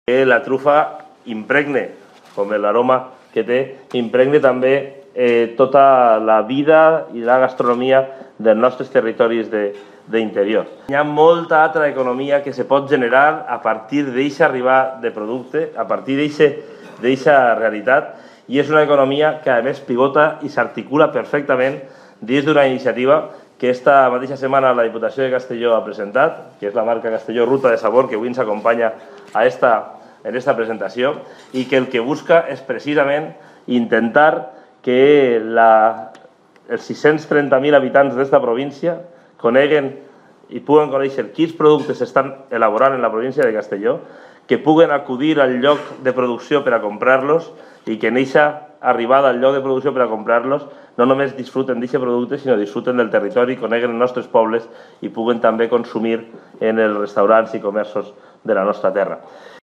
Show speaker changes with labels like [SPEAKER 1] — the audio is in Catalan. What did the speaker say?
[SPEAKER 1] Que la trufa impregne, com l'aroma que té, impregne també tota la vida i la gastronomia dels nostres territoris d'interior. Hi ha molta altra economia que se pot generar a partir d'aquesta arribar de producte, a partir d'aquesta realitat, i és una economia que a més pivota i s'articula perfectament dins d'una iniciativa que esta mateixa setmana la Diputació de Castelló ha presentat, que és la marca Castelló Ruta de Sabor, que avui ens acompanya en esta presentació, i que el que busca és precisament intentar que els 630.000 habitants d'esta província coneguen i puguen conèixer quins productes s'estan elaborant en la província de Castelló, que puguen acudir al lloc de producció per a comprar-los i que en aquesta arribada al lloc de producció per a comprar-los no només disfruten d'aquest producte, sinó disfruten del territori, coneguen els nostres pobles i puguen també consumir en els restaurants i comerços de la nostra terra.